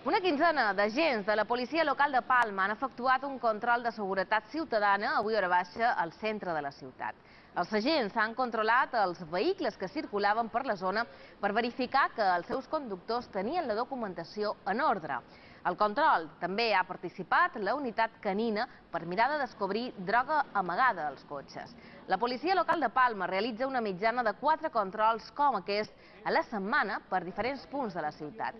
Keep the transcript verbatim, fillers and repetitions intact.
Una quinzena d'agents de la policia local de Palma han efectuat un control de seguretat ciutadana avui a hora baixa al centre de la ciutat. Els agents han controlat els vehicles que circulaven per la zona per verificar que els seus conductors tenien la documentació en ordre. Al control també ha participat la unitat canina per mirar de descobrir droga amagada als cotxes. La policia local de Palma realitza una mitjana de quatre controls com aquest a la setmana per diferents punts de la ciutat.